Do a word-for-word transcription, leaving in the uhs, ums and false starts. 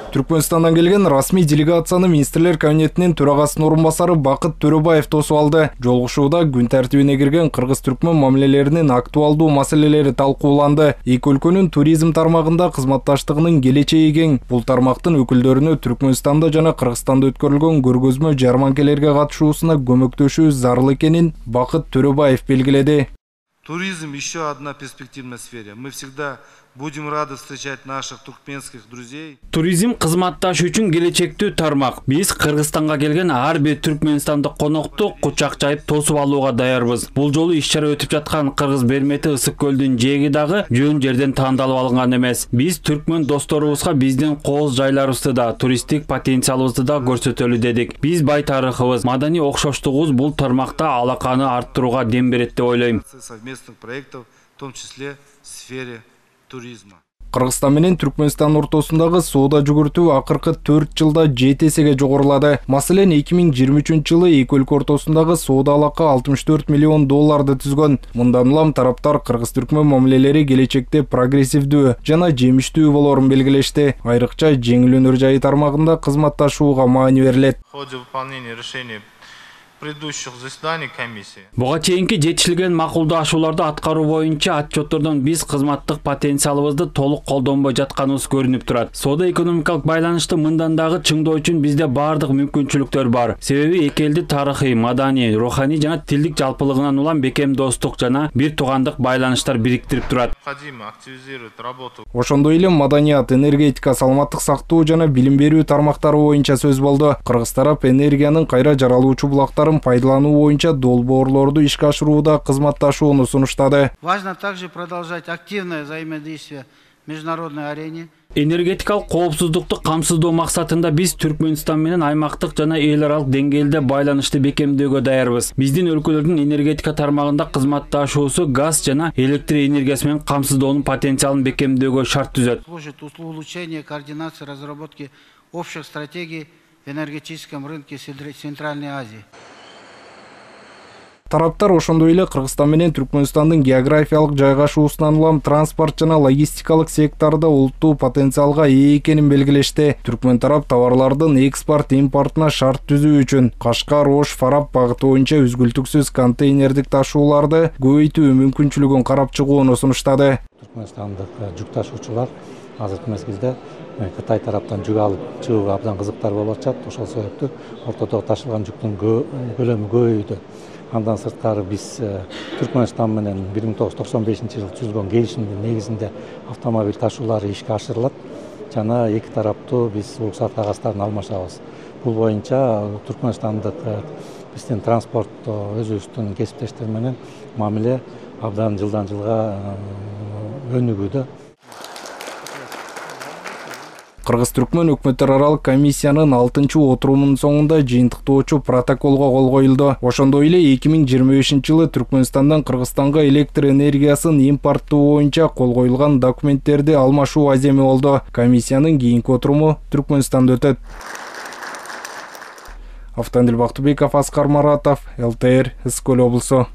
Түркмөнстандан келген расмий делегацияны министрлер кабинетинин төрагасынын орун басары Бакыт Төрөбаев тосуп алды. Жолугушууда күн тартибине кирген кыргыз-түркмөн мамилелеринин актуалдуу маселелери талкууланды. Эки өлкөнүн туризм тармагында кызматташтыгынын келечеги кең. Бул тармактын өкүлдөрүнө Түркмөнстанда жана Кыргызстанда өткөрүлгөн көргөзмө жарманкелерге катышуусуна көмөктөшүү зарыл экенин Бакыт Төрөбаев белгиледи. Туризм еще одна перспективная сфера. Мы всегда будем рады встречать наших туркменских друзей. Туризм кызматташ үчүн келечектүү тармак. Биз Кыргызстанга келген ар бир түркмөнстандык конокту кучак жайып тосуп алууга даярбыз. Бул жолу иш-чара өтүп жаткан Кыргыз Бермети Ысык көлдүн жээги дагы жөн жерден тандалып алынган эмес. Биз түркмөн досторубузга биздин кооз жайларыбызды да, туристтик потенциалыбызды да көрсөтөлү дедик. Биз бай тарыхыбыз, маданий окшоштугубуз бул тармакта алаканы арттырууга дем берет деп ойлойм. Совместных проектов, в том числе в сфере туризма. Кыргызстан менен Түркмөнстан ортосундагы соода жүгүртүү акыркы төрт жылда жети эсеге жогорулады. Маселен, эки миң жыйырма үчүнчү жылы эки өлкө ортосундагы соода алака алтымыш төрт миллион долларды түзгөн. Мындан улам тараптар кыргыз-түркмөн мамилелери келечекте прогрессивдүү жана жемиштүү болорун белгилешти. Айрыкча жеңил өнөр жайы тармагында кызматташууга маани берилет. В ходе выполнения решений предыдущих заседаний комиссии. Буга чейинки жетишилген макулдашууларды аткаруу боюнча отчеттордон биз кызматтык потенциалыбызды толук колдонбой жатканыбыз көрүнүп турат. Соода экономикалык байланышты мындан дагы чыңдоо үчүн бизде бардык мүмкүнчүлүктөр бар. Себеби эки элдин тарыхый, маданий, руханий жана тилдик жалпылыгынан улам бекем достук жана бир туугандык байланыштар бириктирип турат. Необходимо активизировать работу. Ошондой эле маданият, энергетика, саламаттык сактоо жана билим берүү тармактары боюнча сөз болду. Кыргыз тарап энергиянын кайра жаралуучу булактары пайдалануу боюнча долбоорлорду ишке ашырууда кызматташууну сунуштады. Важно также продолжать активное взаимодействие в международной арене. Энергетикалык коопсуздукту камсыздоо максатында биз Түркмөнстан менен аймактык жана эл аралык деңгээлде байланышты бекемдөөгө даярбыз. Биздин өлкөлөрдүн энергетика тармагында кызматташуусу газ жана электр энергиясы менен камсыздоонун потенциалын бекемдөөгө шарт түзөт. Служит улучшение координации разработки общих стратегий в энергетическом рынке Центральной Азии. Тараптар ошондой эле Кыргызстан менен Түркмөнстандын географиялык жайгашуусунан улам транспорт жана логистикалык секторда улуттуу потенциалга ээ экенин белгилешти. Түркмөн тарап товарлардын экспорт импортуна шарт түзүү үчүн Кашкар, Ош, Фарап багыты боюнча үзгүлтүксүз контейнердик ташууларды көбөйтүү мүмкүнчүлүгүн карап чыгууну сунуштады. Түркмөнстандык жүк ташуучулар азыркы мезгилде Кытай тараптан жүк алып чыгууга абдан кызыктар болуп атышат. Ошол себептүү ортодо ташылган жүктүн көлөмү көбөйдү. Андан сырткары биз Түркмөнстан менен бир миң тогуз жүз токсон бешинчи жылы түзүлгөн келишимдин негизинде автомобиль ташуулары ишке ашырылат жана эки тараптуу биз уруксат кагазтарын алмашабыз. Бул боюнча Түркмөнстандык биздин транспорт өзүбүздүн кесиптештер менен мамиле абдан жылдан жылга өнүгүүдө. Кыргыз-түркмөн өкмөттөр аралык комиссиянын алтынчы отурумунун соңунда жыйынтыктоочу протоколго кол коюлду. Ошондой эле эки миң жыйырма бешинчи жылы Түркмөнстандан Кыргызстанга электр энергиясын импорттоо боюнча кол коюлган документтерди алмашуу аземи болду. Комиссиянын кийинки отуруму Түркмөнстанда өтөт. Автандил Бактыбеков, Аскар Маратов, эл тэ эр, Ысык көл облусу.